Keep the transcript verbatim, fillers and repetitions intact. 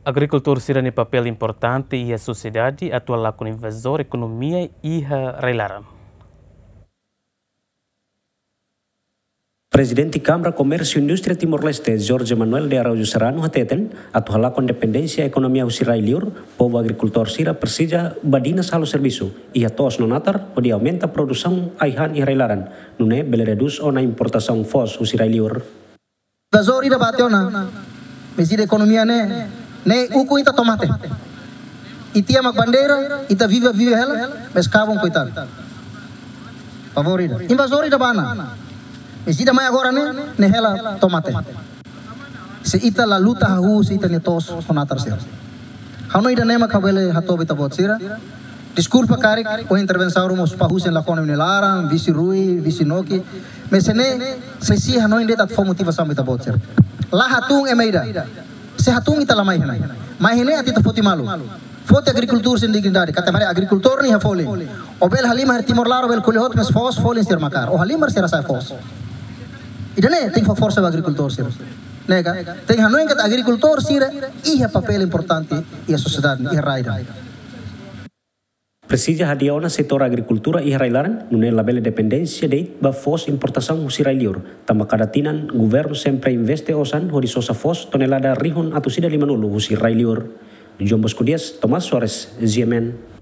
Agrikultór sira-nia papél importante iha sosiedade atu halakon invazór ekonomia iha rai-laran. Prezidente Kámara Komérsiu Indústria Timor-Leste, Jorge Manuel de Araújo Serrano, hateten, atu halakon independénsia ekonomia husi rai-liur, povu agrikultór sira presiza badinas halo servisu, iha to'os no natar, hodi aumenta produsaun ai-han iha rai-laran, nune'e bele redús ona importasaun foos husi rai-liur. Invazór ida bá tiha ona, mais ita ekonomia ne'e, ne'e ukun ita tomate. Ita iha mak bandeira, ita viva viva hela, mais kabun koitadu. Favór ida. Invazór ida bá ona. Mais ita mai agora ne'e, ne'e hela tomate. Se ita la luta hahú, se ita-nia to'os ho natar sira. Ha'u hanoin ida-ne'e mak ha'u bele hato'o ba ita-boot sira. Deskulpa karik, ho intervensaun ruma husi Pak Husin la kona nia laran, visi Rui, visi Noki. Mais ne'e, sei hanoin de'it atu fó motivasaun ba ita-boot sira. La hatún ema ida. Se hatún ita la mai iha ne'e. Mai iha ne'e atu ita foti malu. Foti agrikultór sira-nia dignidade. Katak agrikultór ne'e iha folin. Ó bele halimar iha Timor laran, ó bele ko'alia hotu, mais foos folin sira mak kaer. Ó halimar sira sai foos. Ida-ne'e tenke fó forsa ba agrikultór sira. Ne'e ka? Tenke hanoin katak agrikultór sira iha papél importante iha sosiedade, iha rai ida. Presiza hadi'a ona setór agrikultura iha rai-laran, nune'e labele dependénsia de'it ba foos importasaun husi rai-liur. Tanba kada tinan, governu sempre investe osan hodi sosa foos tonelada rihun atus ida limanulu husi rai-liur. João Bosco Dias, Tomás Soares, G M N.